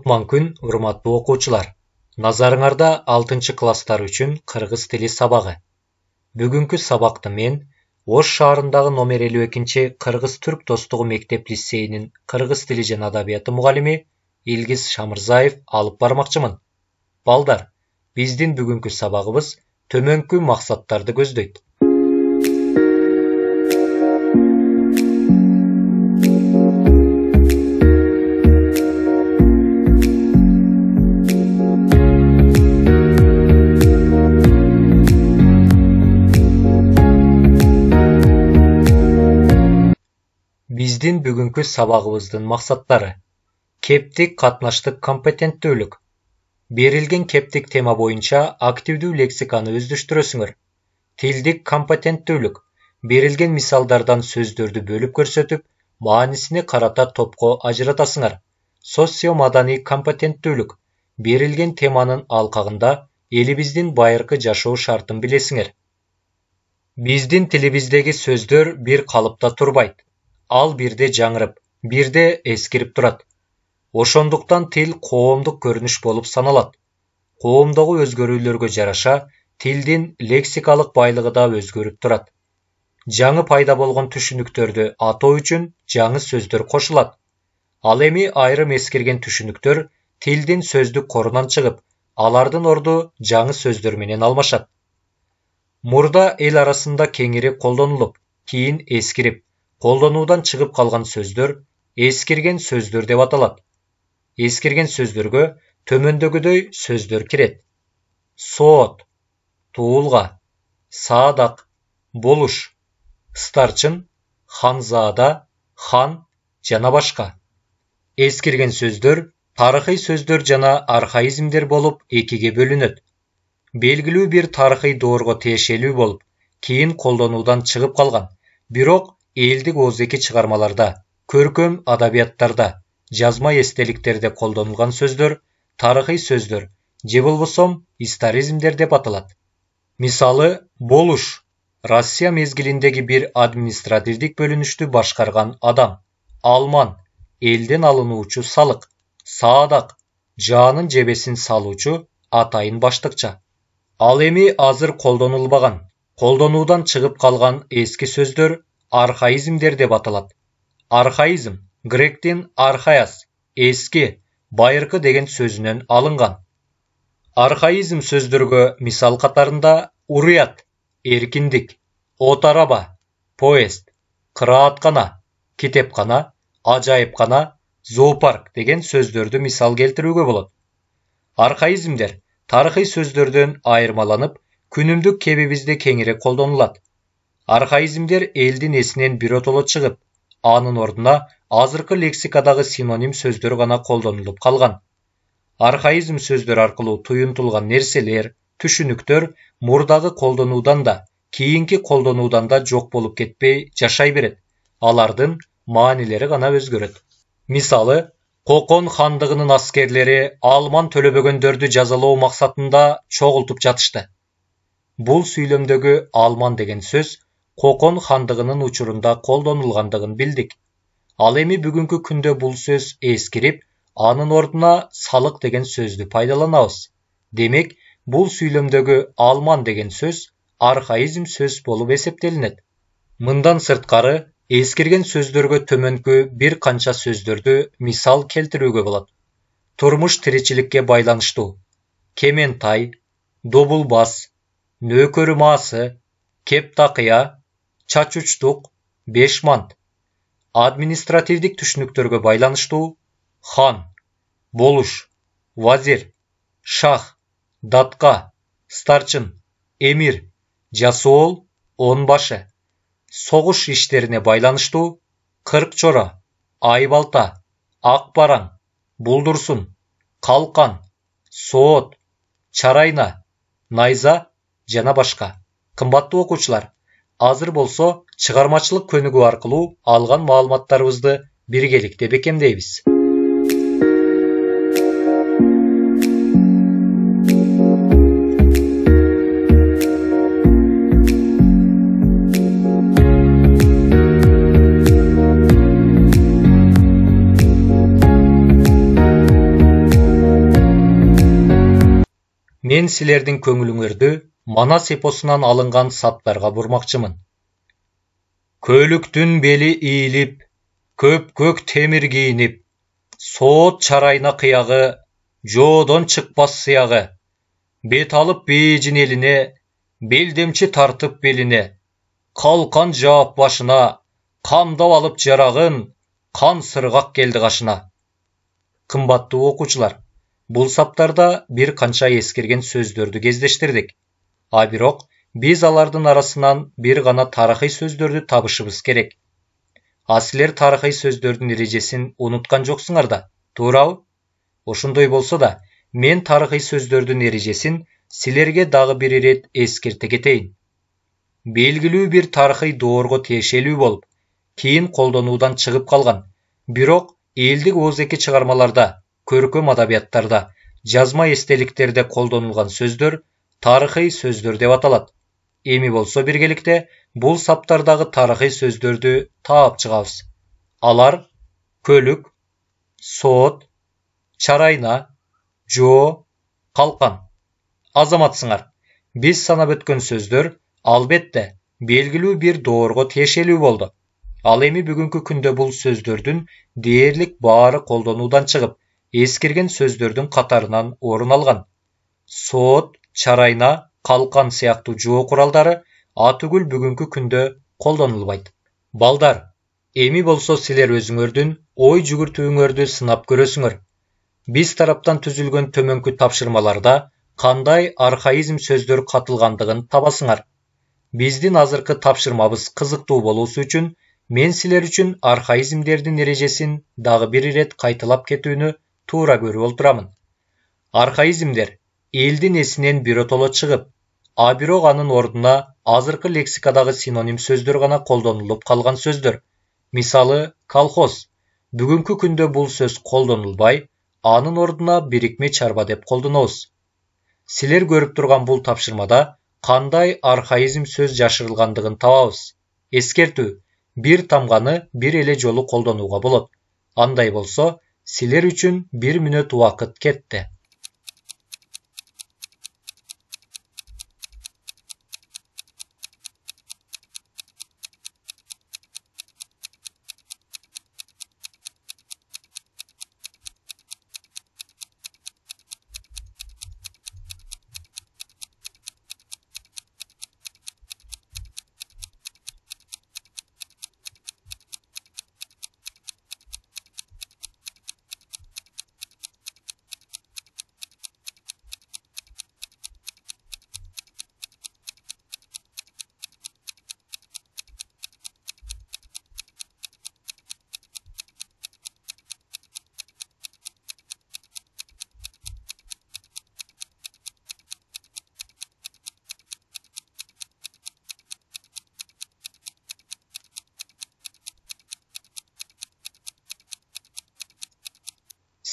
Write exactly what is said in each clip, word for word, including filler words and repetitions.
Кутман күн, урматтуу окуучулар. Назарыңарда алтынчы класстар үчүн кыргыз тили сабагы. Бүгүнкү сабакты мен Ош шаарындагы номер элүү экинчи Кыргыз-Түрк достугу мектеп лицейинин кыргыз тили жана адабияты мугалими Илгиз Шамырзаев алып бармакчымын. Балдар, биздин бүгүнкү сабагыбыз төмөнкү максаттарды көздөйт. Биздин бүгүнкү сабагыбыздын максаттары: кептик катнаштык компетенттүүлүк. Берилген кептик тема боюнча активдүү лексиканы өздөштүрөсүңөр. Тилдик компетенттүүлүк. Берилген мисалдардан сөздөрдү бөлүп көрсөтүп, маанисине карата топко ажыратасыңар. Социомаданий компетенттүүлүк. Берилген теманын алкагында элибиздин байыркы жашоо шартын билесиңер. Биздин тилибиздеги сөздөр бир калыпта турбайт. Ал бирде жаңырып, бирде эскирип турат. Ошондуктан тил коомдук көрүнүш болуп саналат. Коомдогу өзгөрүүлөргө жараша тилдин лексикалык байлыгы да өзгөрүп турат. Жаңы пайда болгон түшүнүктөрдү атоо үчүн жаңы сөздөр кошулат. Ал эми айрым эскирген түшүнүктөр тилдин сөздүк корунан чыгып, алардын орду жаңы сөздөр менен алмашат. Мурда эл арасында кеңири колдонулуп, кийин эскирип, колдонуудан чыгып калган сөздөр эскирген сөздөр деп аталат. Эскирген сөздөргө төмөндөгүдөй сөздөр кирет: соот, туулга, саадак, болуш, старчын, ханзаада, хан жана башка. Эскирген сөздөр тарыхый сөздөр жана архаизмдер болуп экиге бөлүнөт. Белгилүү бир тарыхый доорго тиешелүү болуп, кийин колдонуудан чыгып калган, бирок элдик ооздеги чыгармаларда, көркөм адабияттарда, жазма эстеликтерде колдонулган сөздөр тарыхый сөздөр же болбосом историзмдер деп аталат. Мисалы, болуш Россия мезгилиндеги бир административдик бөлүнүштү башкарган адам. Алман элден алынуучу салык. Саадак жаанын жебесин салуучу атайын баштыкча. Ал эми азыр колдонулбаган, колдонуудан чыгып калган эски сөздөр архаизмдер деп аталат. Архаизм гректин архаиас, эски, байыркы деген сөзүнөн алынган. Архаизм сөздөргө мисал катарында уруят, эркиндик, от араба, поезд, кырааткана, китепкана, ажайыпкана, зоопарк деген сөздөрдү мисал келтирүүгө болот. Архаизмдер тарыхый сөздөрдөн айырмаланып, күнүмдүк кебибизде кеңири колдонулат. Архаизмдер элдин эсинен биротоло чыгып, анын ордуна азыркы лексикадагы синоним сөздөр гана колдонулуп калган. Архаизм сөздөр аркылуу туюнтулган нерселер, түшүнүктөр мурдагы колдонуудан да, кийинки колдонуудан да жок болуп кетпей жашай берет. Алардын маанилери гана өзгөрөт. Мисалы, Кокон хандыгынын аскерлери Алман төлөбөгөндөрдү жазалоо максатында чогултуп жатышты. Бул сүйлөмдөгү Алман деген сөз Кокон хандыгынын учурунда колдонулгандыгын билдик. Ал эми бүгүнкү күндө бул сөз эскирип, анын ордуна салык деген сөздү пайдаланабыз. Демек, бул сүйлөмдөгү Алман деген сөз архаизм сөз болуп эсептелинет. Мындан сырткары, эскирген сөздөргө төмөнкү бир канча сөздөрдү мисал келтирүүгө болот. Турмуш тиричиликке байланыштуу: кементай, добулбас, нөөкөрү маасы, кептакыя, чачучтук, бешмант. Административдик түшүнүктөргө байланыштуу: хан, болуш, вазир, шах, датка, старчын, эмир, жасоол, онбашы. Согуш иштерине байланыштуу: кырк чора, айбалта, ак бараң, булдурсун, калкан, соот, чарайна, найза жана башка. Кымбаттуу окуучулар, азыр болсо чыгармачылык көнүгүү аркылуу алган маалыматтарыбызды биргеликте бекемдейбиз. Мен силердин көңүлүңөрдү Манас эпосунан алынган саптарга бурмакчымын. Көлүктүн бели ийилип, көп-көк темир кийинип, соот чарайна кыягы, жоодон чыкпас сыягы, бет алып бейжин элине, белдемчи тартып белине, калкан жаап башына, камдап алып жарагын, кан сыргак келди кашына. Кымбаттуу окуучулар, бул саптарда бир канча эскерген сөздөрдү кездештирдик. А бирок биз алардын арасынан бир гана тарыхый сөздөрдү табышыбыз керек. А силер тарыхый сөздөрдүн эрежесин унуткан жоксуңар да, туурабы? Ошондой болсо да, мен тарыхый сөздөрдүн эрежесин силерге дагы бир ирет эскерте кетейин. Белгилүү бир тарыхый доорго тиешелүү болуп, кийин колдонуудан чыгып калган, бирок элдик оозеки чыгармаларда, көркөм адабияттарда, жазма эстеликтерде колдонулган сөздөр тарыхый сөздөр деп аталат. Эми болсо биргеликте бул саптардагы тарыхый сөздөрдү таап чыгабыз. Алар көлүк, соот, чарайна, жоо, калкан. Азаматсыңар, биз санап өткөн сөздөр албетте белгилүү бир доорго тиешелүү болду. Ал эми бүгүнкү күндө бул сөздөрдүн дээрлик баары колдонуудан чыгып, эскерген сөздөрдүн катарынан орун алган. Соот, чарайна, калкан сыяктуу жоо куралдары атүгүл бүгүнкү күндө колдонулбайт. Балдар, эми болсо силер өзүңөрдүн ой жүгүртүүңөрдү сынап көрөсүңөр. Биз тараптан түзүлгөн төмөнкү тапшырмаларда кандай архаизм сөздөр катылгандыгын табасыңар. Биздин азыркы тапшырмабыз кызыктуу болуусу үчүн мен силер үчүн архаизмдердин эрежесин дагы бир ирет кайталап кетүүнү туура көрүп олтурамын. Архаизмдер элдин эсинен биротоло чыгып, а бирок анын ордуна азыркы лексикадагы синоним сөздөр гана колдонулуп калган сөздөр. Мисалы, колхоз. Бүгүнкү күндө бул сөз колдонулбай, анын ордуна бирикме чарба деп колдонобуз. Силер көрүп турган бул тапшырмада кандай архаизм сөз жашырылгандыгын табабыз. Эскертүү: бир тамганы бир эле жолу колдонууга болот. Андай болсо, силер үчүн бир мүнөт убакыт кетти.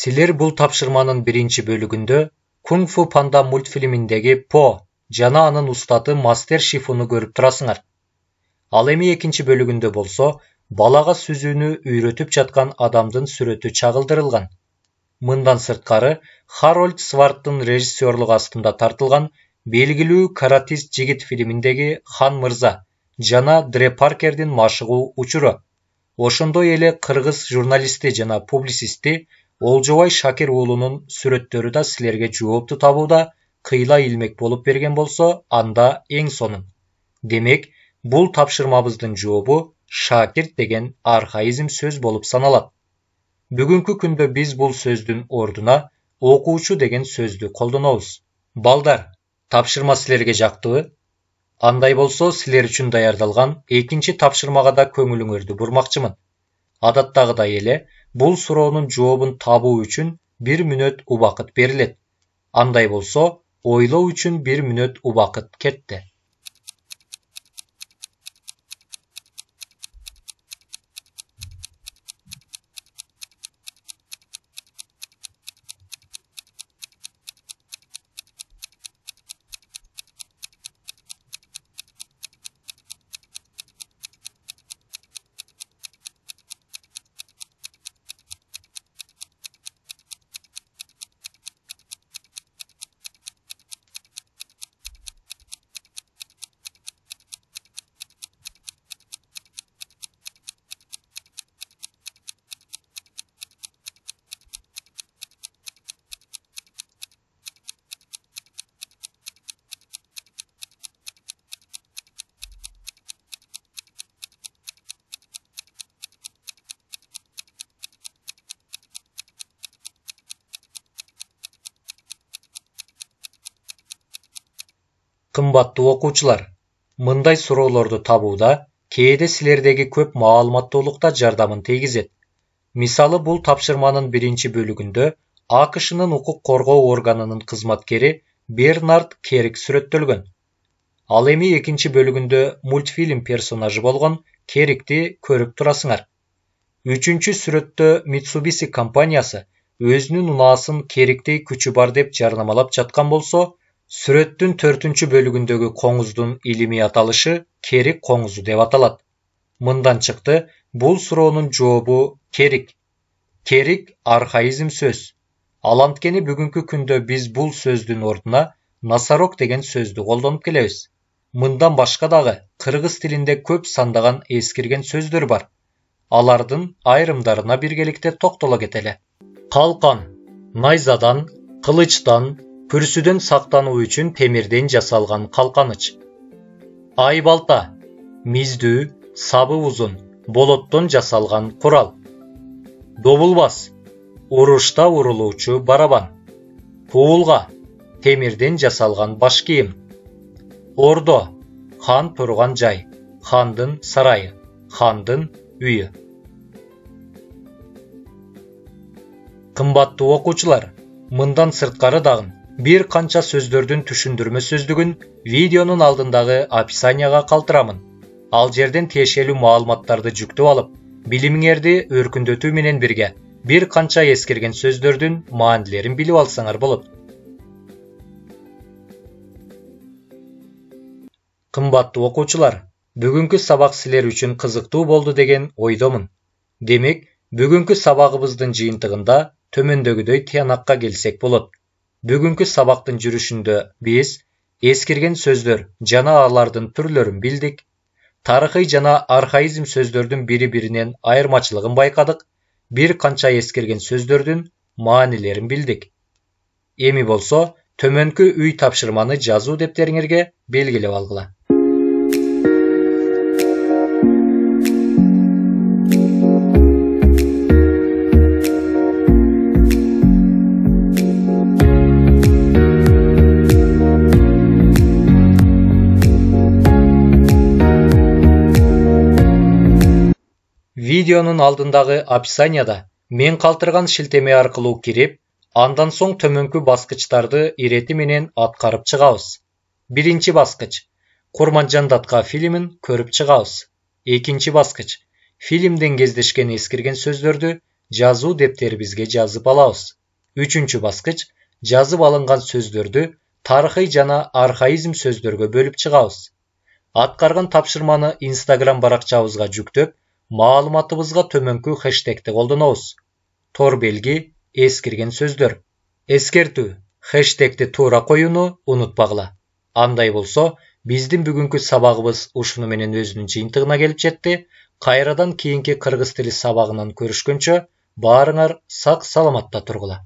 Силер бул тапшырманын биринчи бөлүгүндө Кунг Фу Панда мультфильминдеги По жана анын устаты Мастер Шифуну көрүп турасыңар. Ал эми экинчи бөлүгүндө болсо балага сүзүүнү үйрөтүп жаткан адамдын сүрөтү чагылдырылган. Мындан сырткары, Харольд Сварттын режиссерлугу астында тартылган белгилүү каратист жигит фильминдеги Хан мырза жана Дре Паркердин машыгуу учуру, ошондой эле кыргыз журналисти жана публицисти Олжобай Шакир уулунун сүрөттөрү да силерге жоопту табууда кыйла илмек болуп берген болсо, анда эң сонун. Демек, бул тапшырмабыздын жообу шакирт деген архаизм сөз болуп саналат. Бүгүнкү күндө биз бул сөздүн ордуна окуучу деген сөздү колдонобуз. Балдар, тапшырма силерге жактыбы? Андай болсо, силер үчүн даярдалган экинчи тапшырмага да көңүлүңөрдү бурмакчымын. Адаттагыдай эле, бул суроонун жообун табуу үчүн бир мүнөт убакыт берилет. Андай болсо, ойлоо үчүн бир мүнөт убакыт кетти. Кымбаттуу окуучулар, мындай суроолорду табууда кээде силердеги көп маалыматтуулукта жардамын тийгизет. Мисалы, бул тапшырманын биринчи бөлүгүндө АКШнын укук коргоо органынын кызматкери Бернард Керик сүрөттөлгөн. Ал эми экинчи бөлүгүндө мультфильм персонажы болгон Керикти көрүп турасыңар. Үчүнчү сүрөттө Mitsubishi компаниясы өзүнүн унаасын Кериктей күчү бар деп жарнамалап жаткан болсо, сүрөттүн төртүнчү бөлүгүндөгү коңуздун илимий аталышы Керик коңузу деп аталат. Мындан чыкты, бул суроонун жообу Керик. Керик архаизм сөз. Ал анткени бүгүнкү күндө биз бул сөздүн ордуна носорог деген сөздү колдонуп келебиз. Мындан башка дагы кыргыз тилинде көп сандаган эскирген сөздөр бар. Алардын айрымдарына биргеликте токтоло кетели. Калкан — найзадан, кылычтан, күрсүдөн сактануу үчүн темирден жасалган калканыч. Айбалта — миздүү, сабы узун, болоттон жасалган курал. Добулбас — урушта урулуучу барабан. Пуулга — темирден жасалган баш кийим. Ордо — хан турган жай, хандын сарайы, хандын үйү. Кымбаттуу окуучулар, мындан сырткары дагы бир канча сөздөрдүн түшүндүрмө сөздүгүн видеонун алдындагы описанияга калтырамын. Ал жерден тиешелүү маалыматтарды жүктөп алып, билимиңерди өркүндөтүү менен бирге бир канча эскерген сөздөрдүн маанилерин билип алсаңар болот. Кымбаттуу окуучулар, бүгүнкү сабак силер үчүн кызыктуу болду деген ойдомун. Демек, бүгүнкү сабагыбыздын жыйынтыгында төмөндөгүдөй тыянакка келсек болот. Бүгүнкү сабактын жүрүшүндө биз эскирген сөздөр жана алардын түрлөрүн билдик. Тарыхый жана архаизм сөздөрдүн бири-биринен айырмачылыгын байкадык. Бир канча эскирген сөздөрдүн маанилерин билдик. Эми болсо, төмөнкү үй тапшырманы жазуу дептериңерге белгилеп алгыла. Видеонун алдындагы описанияда мен калтырган шилтеме аркылуу кирип, андан соң төмөнкү баскычтарды ирети менен аткарып чыгабыз. Биринчи баскыч — Курманжан датка фильмин көрүп чыгабыз. Экинчи баскыч — фильмден кездешкен эскирген сөздөрдү жазуу дептерибизге жазып алабыз. Үчүнчү баскыч — жазып алынган сөздөрдү тарыхый жана архаизм сөздөргө бөлүп чыгабыз. Аткарган тапшырманы Instagram баракчабызга жүктөп, маалыматыбызга төмөнкү хэштегти колдонобуз. Тор белги эскирген сөздөр. Эскертүү: хэштегти туура коюуну унутпагыла. Андай болсо, биздин бүгүнкү сабагыбыз ушуну менен өзүнүн жыйынтыгына келип жетти. Кайрадан кийинки кыргыз тили сабагынан көрүшкөнчө, баарыңар сак саламатта тургула.